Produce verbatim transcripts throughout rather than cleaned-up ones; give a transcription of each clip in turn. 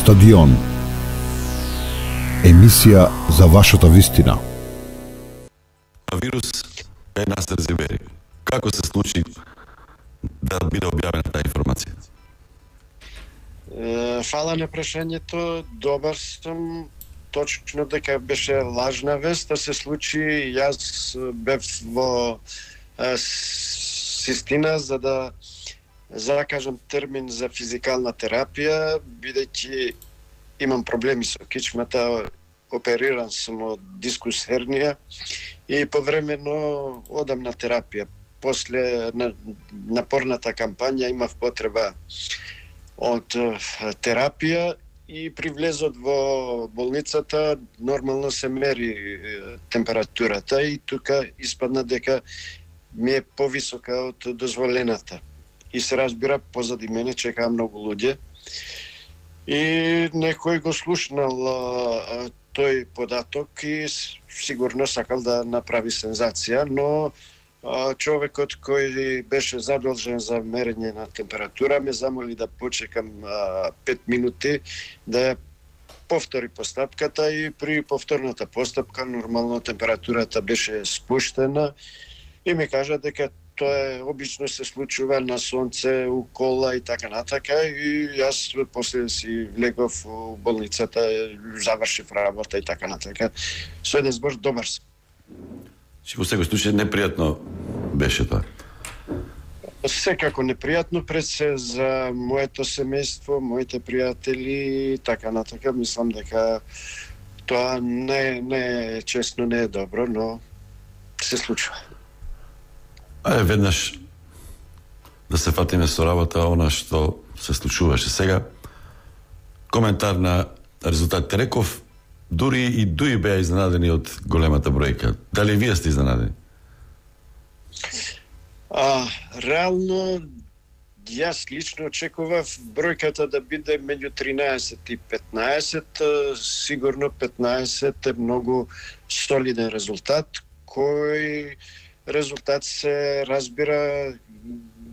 Стадион. Емисија за вашата вистина. Вирус е Насер Зибери. Како се случи да биде објавена таа информација? Фала на прашањето. Добар сум. Точно дека беше лажна вест, да се случи. Јас бев во Систина за да закажам термин за физикална терапија, бидејќи имам проблеми со кичмата, опериран сум од дискус хернија и повремено одам на терапија. После на, напорната кампања имав потреба од терапија и при влезот во болницата нормално се мери температурата и тука испадна дека ми е повисока од дозволената. И се разбира, позади мене чекаа многу луѓе. И некој го слушнал а, тој податок и сигурно сакал да направи сензација, но а, човекот кој беше задолжен за мерење на температура ме замоли да почекам а, пет минути да ја повтори постапката и при повторната постапка нормално температурата беше спуштена и ми кажа дека тоа е обично се случува на сонце, у кола и така натака и јас после си легов у болницата, завршив работа и така натака. Со еден збор добар сум. Че во секој случај непријатно беше тоа? Секако непријатно, пред се за моето семејство, моите пријатели и така натака. Мислам дека тоа не, не е честно, не е добро, но се случува. Ајде веднаш да се фатиме со работа она што се случуваше сега. Коментар на резултатите. Реков, дури и Дуи беа изненадени од големата бројка. Дали вие сте изненадени? А, реално, јас лично очекував бројката да биде меѓу тринаесет и петнаесет. Сигурно петнаесет е многу солиден резултат, кој резултат се разбира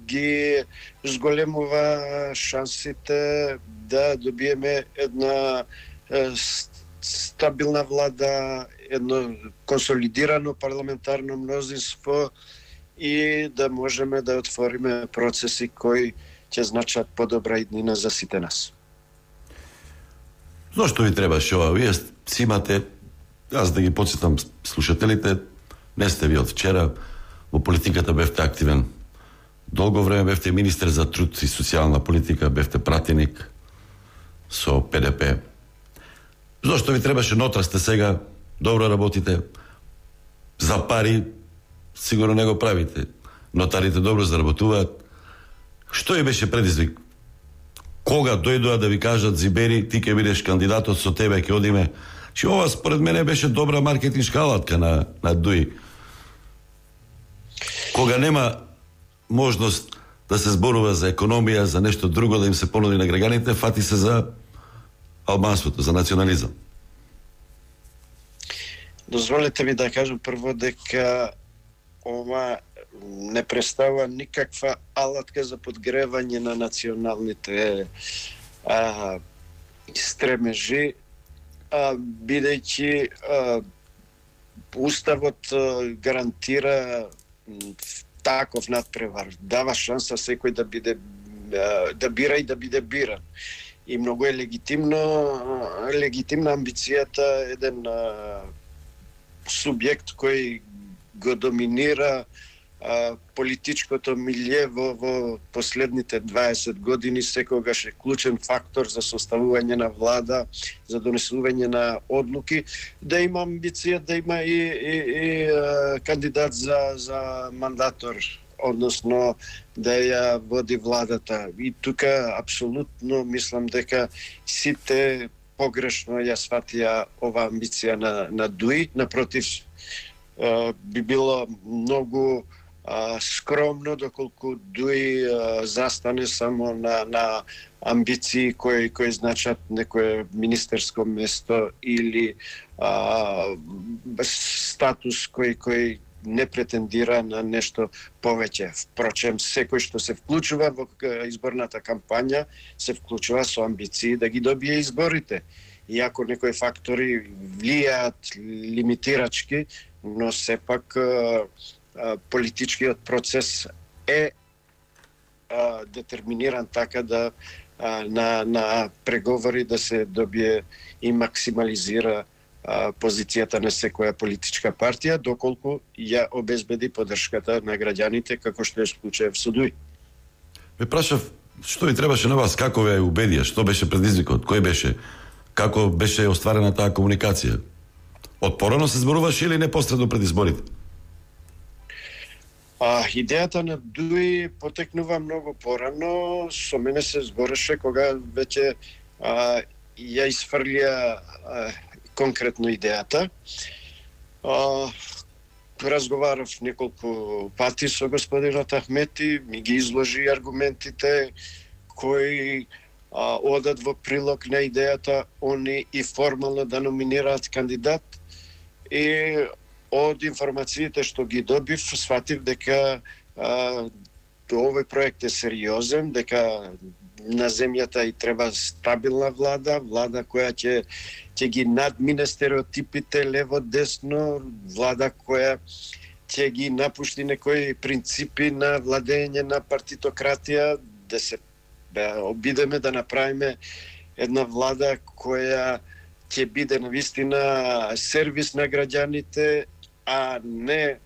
ги зголемува шансите да добиеме една е, стабилна влада, едно консолидирано парламентарно мнозинство и да можеме да отвориме процеси кои ќе значат подобра иднина за сите нас. Зошто ви требаше ова? Вие си имате, аз да ги подсетам слушателите, не сте ви од вчера, во политиката бевте активен. Долго време бевте министер за труд и социјална политика, бевте пратеник со Пе Де Пе. Зошто ви требаше? Нотра сте сега, добро работите, за пари сигурно не го правите. Нотарите добро заработуваат. Што и беше предизвик? Кога дојдоа да ви кажат, Зибери, ти ќе бидеш кандидатот, со тебе ќе одиме? Че ова според мене беше добра маркетиншка алатка на, на Дуи. Кога нема можност да се зборува за економија, за нешто друго да им се понуди на граѓаните, фати се за албанството, за национализам. Дозволете ми да кажам прво дека ова не представува никаква алатка за подгревање на националните а, стремежи, а, бидејќи а, Уставот а, гарантира таков надпревар, дава шанса секој да биде да бира и да биде биран. И многу е легитимно легитимна амбицијата еден а, субјект кој го доминира а, политичкото милје во, во последните дваесет години, секогаш е клучен фактор за составување на влада, за донесување на одлуки, да има амбиција да има и, и, и а, кандидат за, за мандатор, односно да ја води владата. И тука апсолутно мислам дека сите погрешно ја сватија ова амбиција на, на Дуи. Напротив, би било многу а, скромно доколку Дуи а, застане само на, на амбиции кои, кои значат некое министерско место или а, статус кој, кој не претендира на нешто повеќе. Впрочем, секој што се вклучува во изборната кампања се вклучува со амбиции да ги добие изборите. Иако некои фактори влијаат лимитирачки, но сепак политичкиот процес е а, детерминиран така да а, на, на преговори да се добие и максимализира а, позицијата на секоја политичка партија, доколку ја обезбеди поддршката на граѓаните, како што е случајов со ДУИ. Ме прашав, што ви требаше на вас, како ве убедија, што беше предизвикот, кој беше, како беше остварена таа комуникација? Од порано се зборуваше или непосредно пред изборите? А, идејата на ДУИ потекнува многу порано. Со мене се збореше кога веќе а, ја изфрлија а, конкретно идејата. А, разговарав неколку пати со господинот Ахмети, ми ги изложи аргументите кои а, одат во прилог на идејата они и формално да номинираат кандидат. И од информациите што ги добив, сватив дека а, овој проект е сериозен, дека на земјата и треба стабилна влада, влада која ќе ќе ги надмине стереотипите лево-десно, влада која ќе ги напушти некои принципи на владење на партитократија, да се да обидеме да направиме една влада која ќе биде навистина сервис на граѓаните, а не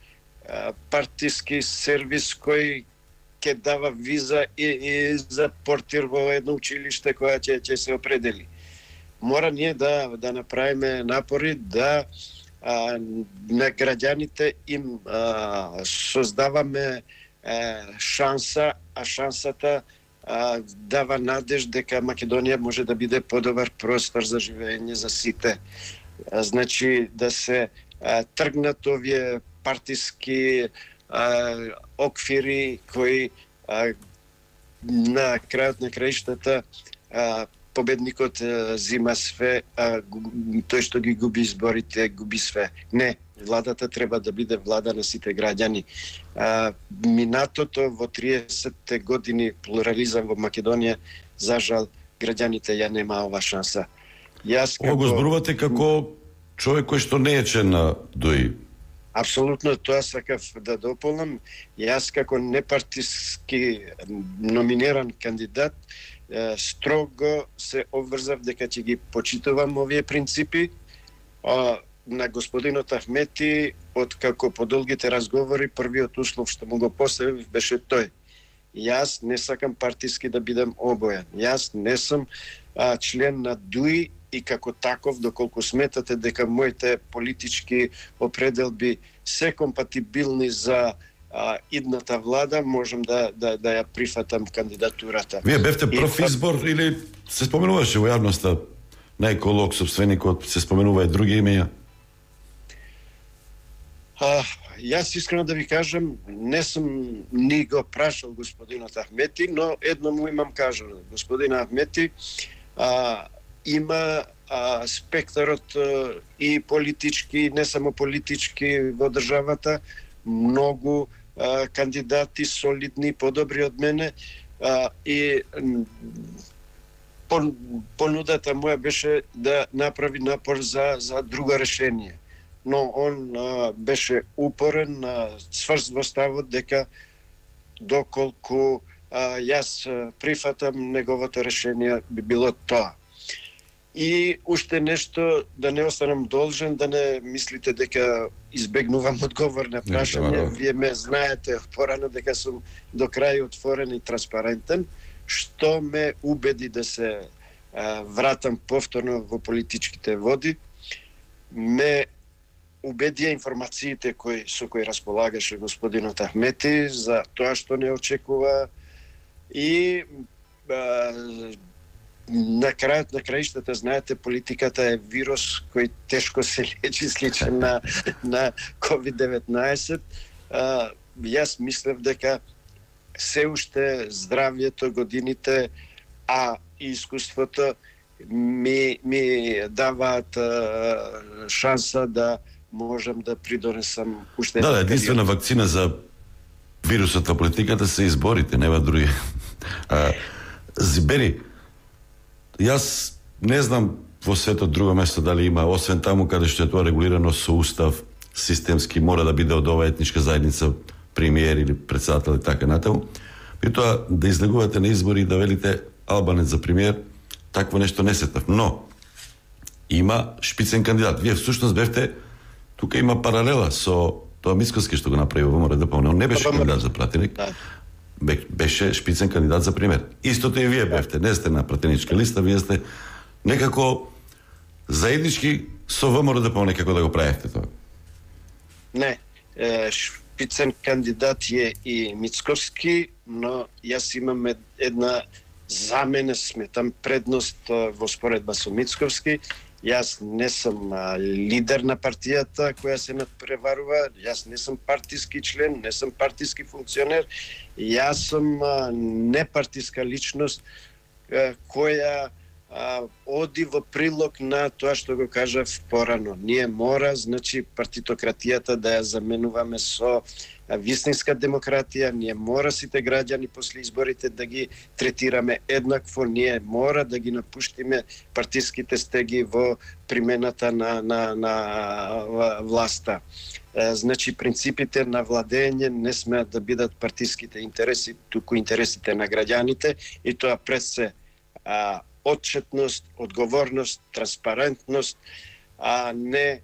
а, партиски сервис кој ќе дава виза и, и за портир во едно училиште која ќе ќе се определи. Мора ние да да направиме напори да а, на граѓаните им а, создаваме а, шанса, а шансата а, дава надеж дека Македонија може да биде подобар простор за живење за сите. А, значи да се а, тргнат овие партиски а, оквири кои а, на крајот на краиштата а, победникот а, зима све, а тој што ги губи изборите губи све. Не, владата треба да биде влада на сите граѓани. А, минатото во триесетте години плурализам во Македонија, за жал, граѓаните ја нема ова шанса. Јас како... Ова го зборувате како човек кој што не е член на ДУИ. Апсолутно, тоа сакав да дополнам. Јас како непартиски номиниран кандидат строго се обврзав дека ќе ги почитувам овие принципи. А, на господинот Ахмети, од како по долгите разговори, првиот услов што му го поставив беше тој. Јас не сакам партиски да бидам обојан. Јас не сум а, член на ДУИ и како таков, доколку сметате дека моите политички определби се компатибилни за а, идната влада, можам да, да, да ја прифатам кандидатурата. Вие бевте прв и... избор или се споменуваше во јавноста на еколог, собственикот, се споменува и други имења? А, јас искрено да ви кажам, не сум ни го прашал господинот Ахмети, но едно му имам кажано. Господин Ахмети а, има а, спектарот а, и политички, не само политички во државата, многу а, кандидати солидни, подобри од мене, а, и пон, понудата моја беше да направи напор за, за друго решение. Но он а, беше упорен, а, цврст во ставот дека доколку а, јас прифатам неговото решение би било тоа. И уште нешто, да не останам должен, да не мислите дека избегнувам одговор на прашање. Вие ме знаете порано дека сум до крај отворен и транспарентен, што ме убеди да се а, вратам повторно во политичките води. Ме убедија информациите кои, со кои располагаше господинот Ахмети за тоа што не очекува и а, на крајот на краиштата, знаете, политиката е вирус кој тешко се лечи, сличен на, на ковид деветнаесет. А, јас мислев дека се уште здравјето, годините, а и искуството ми, ми даваат а, шанса да можам да придонесам уште. Да, да, единствена вакцина за вирусот на политиката се изборите, нема други. А, Зибери, јас не знам во светот друго место дали има, освен таму каде што е тоа регулирано со устав, системски мора да биде од оваа етничка заедница премиер или председател и така натаму. И тоа да излегувате на избори и да велите Албанец за премиер, такво нешто не сетав. Но има шпицен кандидат. Вие всушност бевте, тука има паралела со тоа Мицковски што го направи во ВМРО ДП, он не беше кандидат за пратеник. Беше шпицен кандидат за премиер. Истото и вие бевте, не сте на пратеничка листа, вие сте некако заеднички со ВМРО ДП некако да го правите тоа. Не, шпицен кандидат е и Мицковски, но јас имам една, за мене сметам, предност во споредба со Мицковски. Јас не сум а, лидер на партијата која се надпреварува, јас не сум партиски член, не сум партиски функционер, јас сум а, непартиска личност а, која а, оди во прилог на тоа што го кажав порано. Ние мора, значи, партитократијата да ја заменуваме со вистинска демократија, ние мора сите граѓани после изборите да ги третираме еднакво, ние мора да ги напуштиме партиските стеги во примената на, на, на власта. Значи, принципите на владење не смеат да бидат партиските интереси, туку интересите на граѓаните, и тоа пред се а, отчетност, одговорност, транспарентност, а не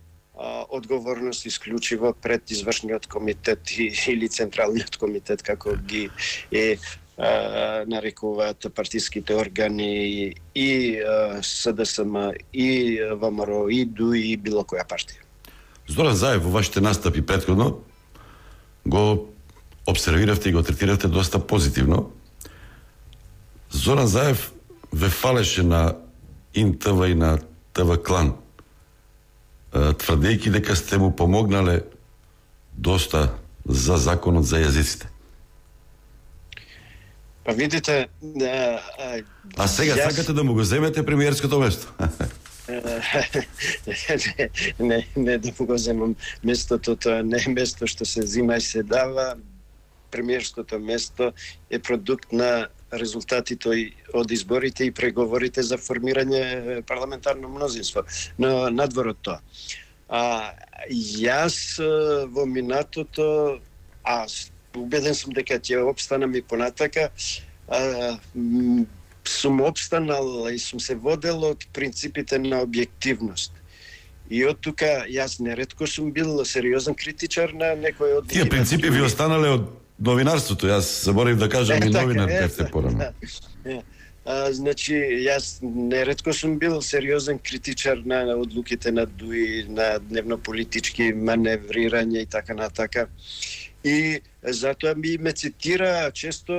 одговорност исклучиво пред извршниот комитет или централниот комитет, како ги е а, нарекуваат партиските органи и а, СДСМ, и ВМРО, и ДУИ, и било која партија. Зоран Заев во вашите настапи претходно го обсервиравте и го третиравте доста позитивно. Зоран Заев ве фалеше на ИНТВ и на ТВ Клан, тврдејќи дека сте му помогнале доста за законот за јазиците. Па видите... А, а, а сега јас... сакате да му го земете премиерското место? не, не, не да му го земам местото, тоа не е место што се зима и се дава. Премиерското место е продукт на резултатите од изборите и преговорите за формирање парламентарно мнозинство. Но надвор од тоа. А, јас во минатото, а убеден сум дека ќе обстанам и понатака, а, сум обстанал и сум се водел од принципите на објективност. И од тука јас неретко сум бил сериозен критичар на некој од... Тие принципи ви останале од новинарството, јас заборав да кажам и новинар бевте порано. Значи, јас неретко сум бил сериозен критичар на одлуките на ДУИ, на дневно-политички маневрирање и така натака. И затоа ми ме цитира често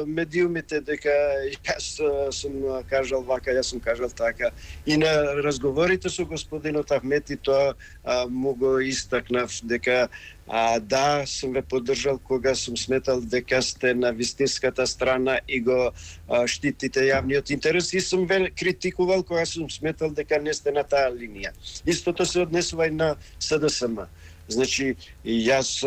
медиумите дека јас сум кажал вака, јас сум кажал така. И на разговорите со господинот Ахмети тоа а, му го истакнав дека а, да, сум ве поддржал кога сум сметал дека сте на вистинската страна и го а, штитите јавниот интерес, и сум ве критикувал кога сум сметал дека не сте на таа линија. Истото се однесува и на СДСМ. Значи, јас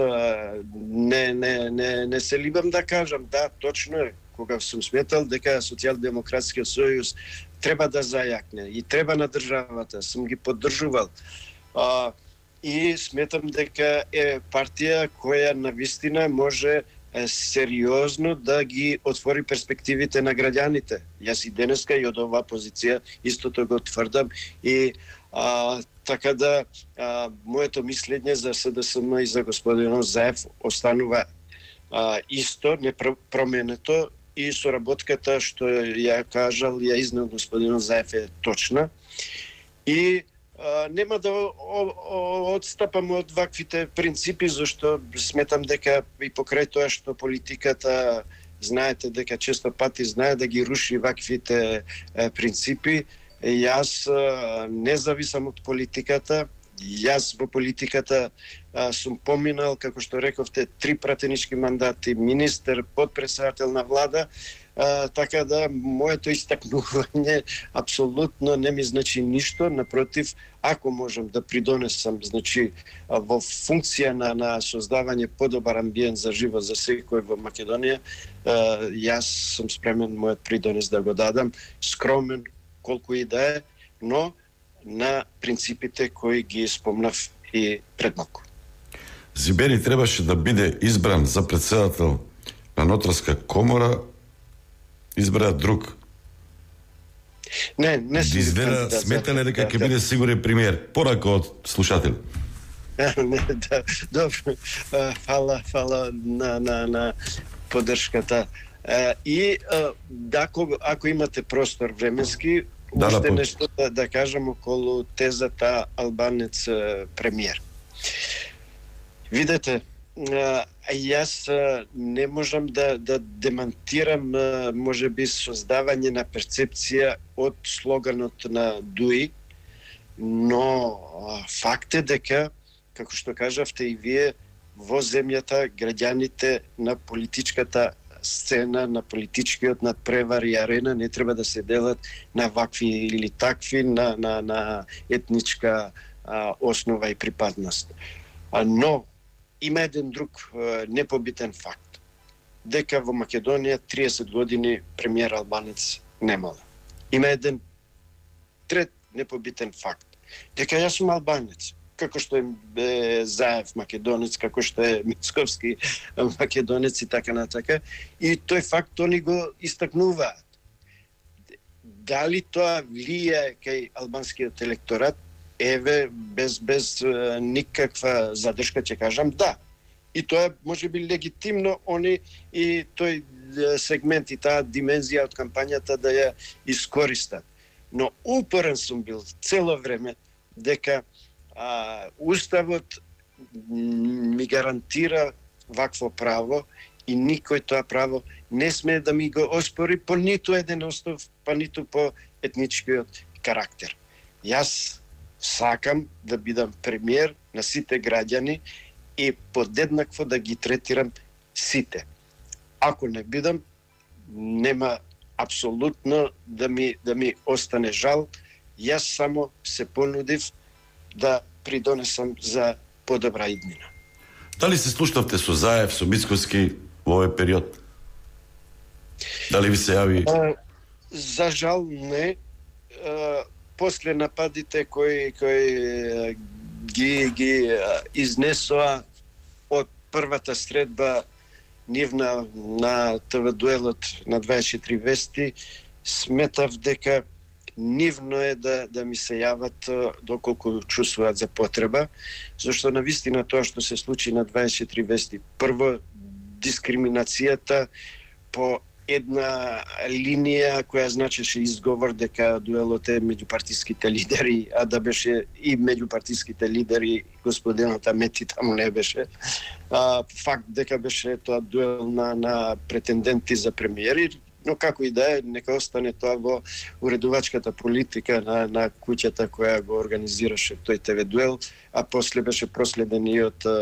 не, не, не, не се либам да кажам, да, точно е, кога сум сметал дека Социјалдемократскиот сојуз треба да зајакне и треба на државата, сум ги поддржувал. А, и сметам дека е партија која навистина може сериозно да ги отвори перспективите на граѓаните. Јас и денеска и од оваа позиција истото го тврдам, и а, така да а, моето мислење за СДСМ и за господинот Заев останува а, исто, непроменето, и соработката што ја кажал, ја изнел господинот Заев е точна. И а, нема да одстапам од ваквите принципи, зашто сметам дека и покрај тоа што политиката, знаете дека често пати знае да ги руши ваквите е, принципи, јас не зависам од политиката. Јас во политиката а, сум поминал, како што рековте, три пратенички мандати, министер, подпредседател на влада. А, така да, моето истакнување апсолутно не ми значи ништо, напротив, ако можам да придонесам, значи, во функција на, на создавање подобар амбиент за живот за секој во Македонија, а, јас сум спремен мојот придонес да го дадам, скромен колку и да е, но на принципите кои ги спомнав и пред малку. Зибери требаше да биде избран за председател на Нотарска комора, избра друг. Не, не сум изгледа, сметале дека ќе биде сигурен премиер, порака од слушател. Не, да, добро. Фала, фала на, на, на поддршката. И да, ако имате простор временски, да, уште да, нешто да, да кажам околу тезата албанец премиер. Видете, јас не можам да, да демантирам може би создавање на перцепција од слоганот на Дуи, но факт е дека, како што кажавте и вие, во земјата граѓаните на политичката сцена, на политичкиот надпревар и арена не треба да се делат на вакви или такви, на, на, на етничка а, основа и припадност. А, но има еден друг а, непобитен факт. Дека во Македонија триесет години премиер албанец немала. Има еден трет непобитен факт. Дека јас сум албанец. Како што е Заев македонец, како што е Мицковски македонец и така натака. И тој факт они го истакнуваат. Дали тоа влие кај албанскиот електорат? Еве, без, без никаква задршка ќе кажам да. И тоа може би легитимно они и тој сегмент и таа димензија од кампањата да ја искористат. Но упорен сум бил цело време дека а, Уставот ми гарантира вакво право и никој тоа право не смее да ми го оспори по ниту еден основ, па ниту по етничкиот карактер. Јас сакам да бидам премиер на сите граѓани и подеднакво да ги третирам сите. Ако не бидам, нема апсолутно да ми да ми остане жал. Јас само се понудив да придонесам за подобра иднина. Дали се слушнавте со Заев, со Мицковски во овој период? Дали ви се јави? А, за жал не. А, после нападите кои кои ги ги изнесоа од првата средба нивна на ТВ дуелот на дваесет и четири вести, сметав дека нивно е да да ми се јават доколку чувствуваат за потреба, зашто навистина тоа што се случи на дваесет и четири вести, прво дискриминацијата по една линија која значеше изговор дека дуелот е меѓу партиските лидери, а да беше и меѓу партиските лидери господинот Амети таму не беше. А, факт дека беше тоа дуел на, на претенденти за премиери, но како и да е, нека остане тоа во уредувачката политика на, на куќата која го организираше тој ТВ дуел, а после беше проследен и од а,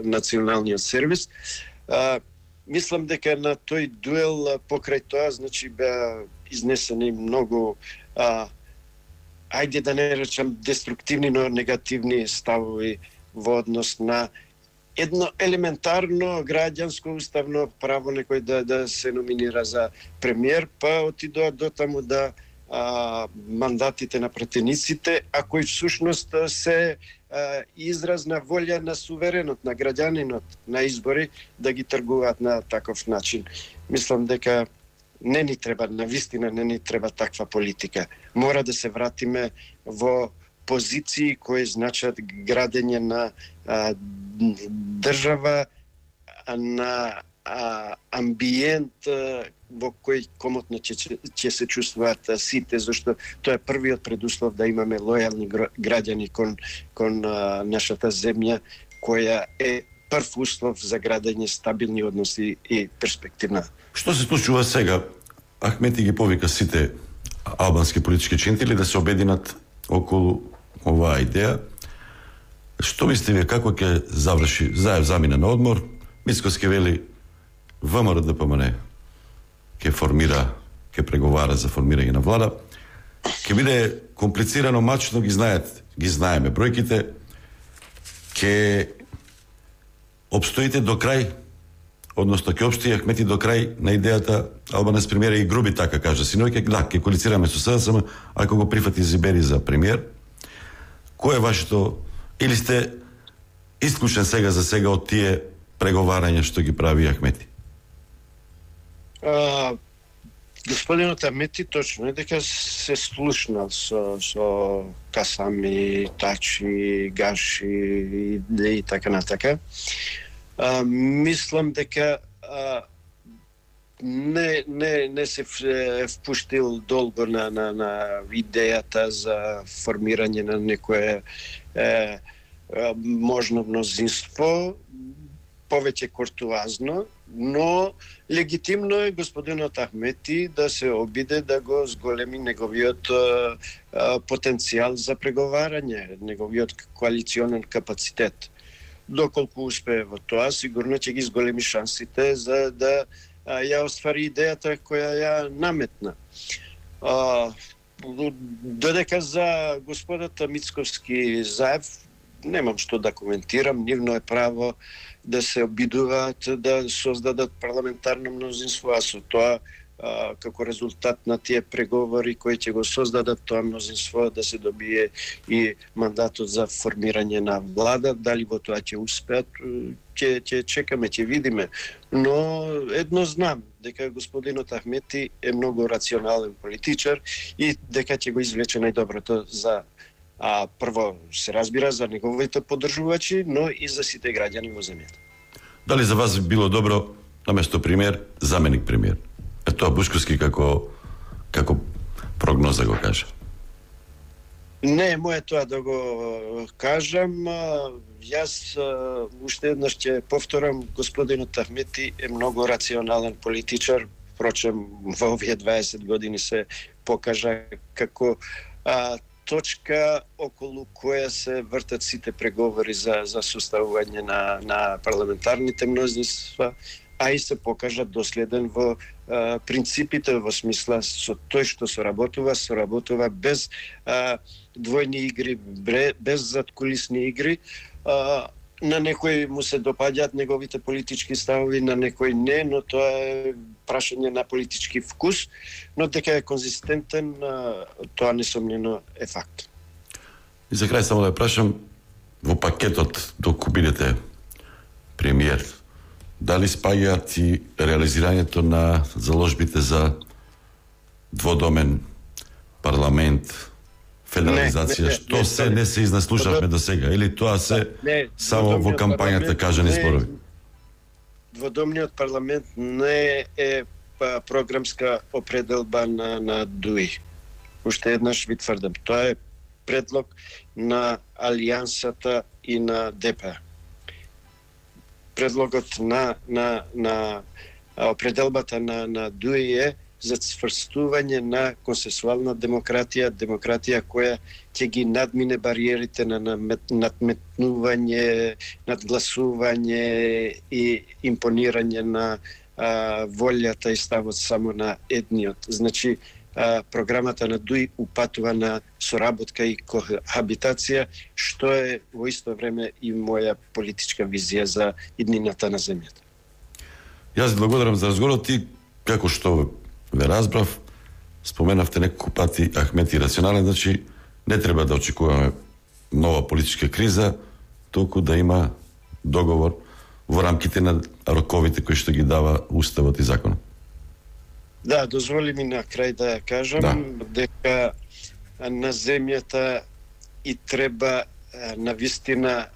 националниот сервис. А, Мислам дека на тој дуел покрај тоа, значи, беа изнесени многу, а, ајде да не речам деструктивни, но негативни ставови во однос на едно елементарно граѓанско уставно право некој да, да се номинира за премиер, па отидоа до таму да а, мандатите на пратениците, а кои всушност се израз на волја на суверенот, на граѓанинот на избори да ги тргуваат на таков начин. Мислам дека не ни треба, на вистина не ни треба таква политика. Мора да се вратиме во позиции кои значат градење на а, држава, на а, амбиент а, во кој комотно ќе, ќе се чувствуваат сите, зашто тоа е првиот предуслов да имаме лојални граѓани кон, кон а, нашата земја, која е прв услов за градење стабилни односи и перспективна. Што се случува сега? Ахмети ги повика сите албански политички чинтели да се обединат околу оваа идеја. Што мислите вие, како ќе заврши? Заев замина на одмор, Мицковски вели ВМРО ДПМН ќе формира, ќе преговара за формирање на влада. Ќе биде комплицирано, мачно, ги знаете, ги знаеме бројките. Ќе обстоите до крај, односно ќе обстои Ахмети до крај на идејата Албанец премиер и груби така кажа синоќа, да, ќе коалицираме со СДСМ, ако го прифати Зибери за премиер. Кој е вашето, или сте исклучен сега за сега од тие преговарања што ги прави Ахмети? А, господинот Ахмети точно е дека се слушнал со, со Касами, Тачи, Гаши и, и така натака. А, мислам дека а, не, не, не се впуштил долго на, на, на идејата за формирање на некое е, можно мнозинство, повеќе куртуазно, но легитимно е господинот Ахмети да се обиде да го зголеми неговиот а, а, потенцијал за преговарање, неговиот коалиционен капацитет. Доколку успее во тоа, сигурно ќе ги зголеми шансите за да а, ја оствари идејата која ја наметна. А, додека за господата Мицковски Заев, немам што да коментирам, нивно е право да се обидуваат да создадат парламентарно мнозинство, а со тоа а, како резултат на тие преговори кои ќе го создадат тоа мнозинство да се добие и мандатот за формирање на влада. Дали во тоа ќе успеат, ќе ќе чекаме, ќе видиме. Но едно знам, дека господинот Ахмети е многу рационален политичар и дека ќе го извлече најдоброто за А прво се разбира за неговите поддржувачи, но и за сите граѓани во земјата. Дали за вас било добро наместо премиер, заменик премиер? Е тоа Бушковски како како прогноза го кажа. Не е моје тоа да го кажам. Јас уште еднаш ќе повторам, господинот Ахмети е многу рационален политичар, впрочем во овие дваесет години се покажа како а, точка околу која се вртат сите преговори за за составување на на парламентарните мнозинства, а и се покажа доследен во а, принципите, во смисла со тој што соработува, соработува без а, двојни игри, без задкулисни игри. А, на некој му се допаѓаат неговите политички ставови, на некој не, но тоа е прашање на политички вкус, но дека е конзистентен, тоа несомнено е факт. И за крај само да ја прашам, во пакетот доколку бидете премиер, дали спаѓаат и реализирањето на заложбите за дводомен парламент, федерализација, не, не, што не, се не се изнаслушавме до сега, или тоа се не, само во кампањата кажани зборови? Дводомниот парламент не е програмска определба на, на ДУИ. Уште еднаш ви тврдам, тоа е предлог на Алијансата и на ДП. Предлогот на, на, на определбата на, на ДУИ е за цврстување на консенсуална демократија, демократија која ќе ги надмине бариерите на надметнување, надгласување и импонирање на а, волјата и ставот само на едниот. Значи, а, програмата на ДУИ упатува на соработка и кохабитација, што е во исто време и моја политичка визија за иднината на земјата. Јас ви благодарам за разговорот и како што ве разбрав, споменавте неколку пати Ахмети рационален, значи не треба да очекуваме нова политичка криза, толку да има договор во рамките на роковите кои што ги дава Уставот и законот. Да, дозволи ми на крај да кажам да. дека на земјата и треба навистина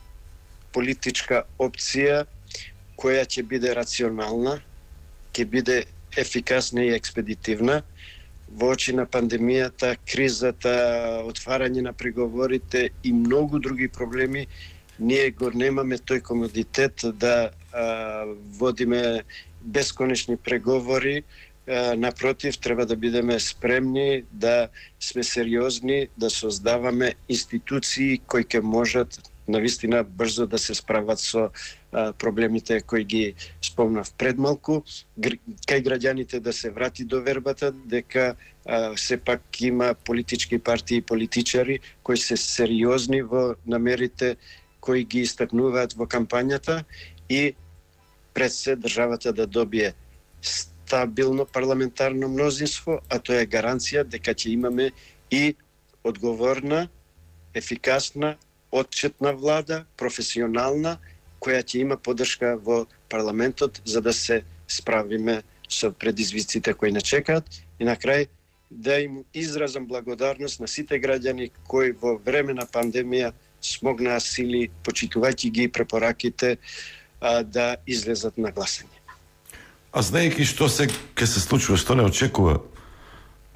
политичка опција која ќе биде рационална, ќе биде ефикасна и експедитивна во очи на пандемијата, кризата, отварање на преговорите и многу други проблеми. Ние го немаме тој комодитет да а, водиме бесконечни преговори. А, напротив, треба да бидеме спремни, да сме сериозни, да создаваме институции кои ќе можат навистина брзо да се справат со а, проблемите кои ги спомнав пред малку, кај граѓаните да се врати до вербата дека а, сепак има политички партии и политичари кои се сериозни во намерите кои ги истакнуваат во кампањата и пред се државата да добие стабилно парламентарно мнозинство, а тоа е гаранција дека ќе имаме и одговорна, ефикасна, отчетна влада, професионална, која ќе има поддршка во парламентот за да се справиме со предизвиците кои не чекаат. И на крај да им изразам благодарност на сите граѓани кои во време на пандемија смогнаа сили, почитувајќи ги препораките, а, да излезат на гласање. А знаејќи што се ќе се случува, што не очекува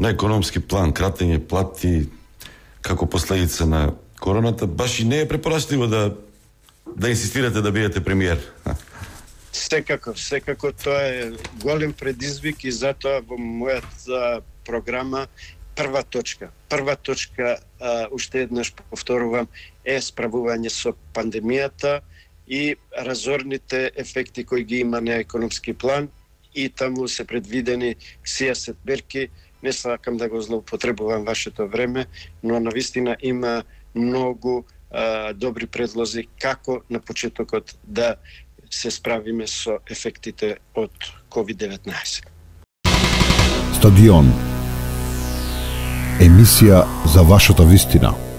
на економски план, кратење плати како последица на короната, баш и не е препорачливо да да инсистирате да бидете премиер. Секако, секако тоа е голем предизвик и затоа во мојата програма прва точка, прва точка, а, уште еднаш повторувам, е справување со пандемијата и разорните ефекти кои ги има на економски план, и таму се предвидени сијасет мерки. Не сакам да го злоупотребувам вашето време, но навистина има многу а, добри предлози како на почетокот да се справиме со ефектите од ковид деветнаесет. Стадион. Емисија за вашата вистина.